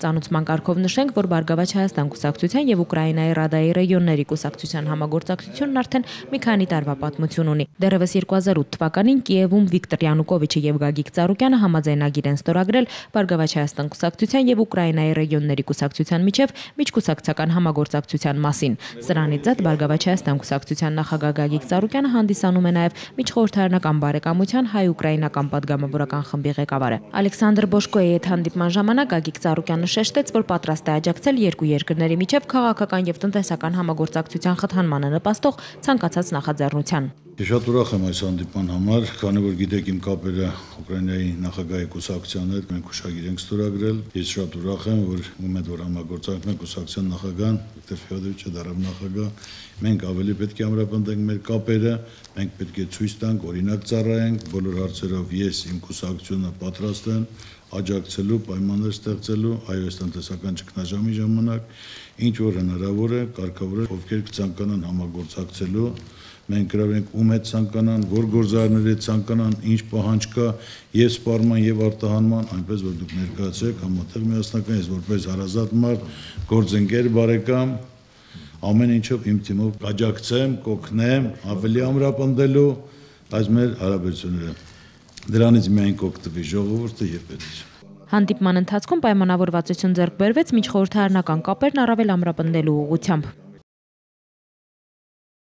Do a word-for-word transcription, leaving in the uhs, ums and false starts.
Ծանուցման կարգով նշենք, որ Բարգավաճ Հայաստան կուսակցության եւ Ուկրաինայի Ռադայի ռեգիոնների կուսակցության համագործակցությունն արդեն մի քանի տարվա պատմություն ունի։ Դեռևս երկու հազար ութ թվականին Կիևում Վիկտոր Յանուկովիչը եւ Գագիկ Ծառուկյանը համաձայնագիր են ստորագրել Բարգավաճ Հայաստան կուսակցության եւ Ուկրաինայի ռեգիոնների կուսակցության միջև միջկուսակցական համագործակցության մասին։ Սրանից զատ Բարգավաճ Հայաստան կուսակցության նախագահ Գագիկ Ծառուկյանը հանդիսանում է նաեւ միջխորհրդարանական բարեկամության հայ-ուկրաինական պատգամավորական խմբի ղեկավարը։ Ալեքսանդր Բոշկոյի հետ հանդիպման ժամանակ Գագիկ Ծառուկյանը շեշտեց, որ պատրաստ է աջակցել երկու երկրների միջև քաղաքական եւ տնտեսական համագործակցության խթանմանը նպաստող ցանկացած նախաձեռնության։ Շատ ուրախ եմ այս հանդիպման համար, քանի որ գիտեք իմ կապերը Ուկրաինայի նախագահի կուսակցության հետ մենք հուշագիր ենք ստորագրել։ Ես շատ ուրախ եմ, որ ում հետ որ համագործակցում ենք կուսակցության նախագահան Վիկտոր Ֆեոդորովիչը դարավ նախագահ, մենք ավելի պետք է ամրապնդենք մեր կապերը, մենք պետք է ցույց տանք, օրինակ ծառայենք, բոլոր հարցերով ես իմ կուսակցությունը պատրաստ եմ աջակցելու, պայմաններ ստեղծելու այո տնտեսական ճգնաժամի ժամանակ, ինչ որ հնարավոր է, կարգավոր է, ովքեր կցանկանան համագործակցելու, մենք գրավ ենք ում հետ ցանկանան, որ գործարարների հետ ցանկանան, ինչ պահանջ կա եւ սպառման եւ արտահանման, այնպես որ դուք ներկայացեք համատեղ միասնական, ես որպես հարազատ մարդ, գործընկեր, բարեկամ, ամեն ինչով իմ թիմով կաջակցեմ, կօգնեմ, ավելի ամրապնդելու այս մեր հարաբերությունները։ Դրանից միայն կօգտվի ժողովուրդը եւ պետությունը։ Հանդիպման ընթացքում պայմանավորվածություն ձեռք բերվեց միջխորհրդարանական կապերն առավել ամրապնդելու ուղղությամբ։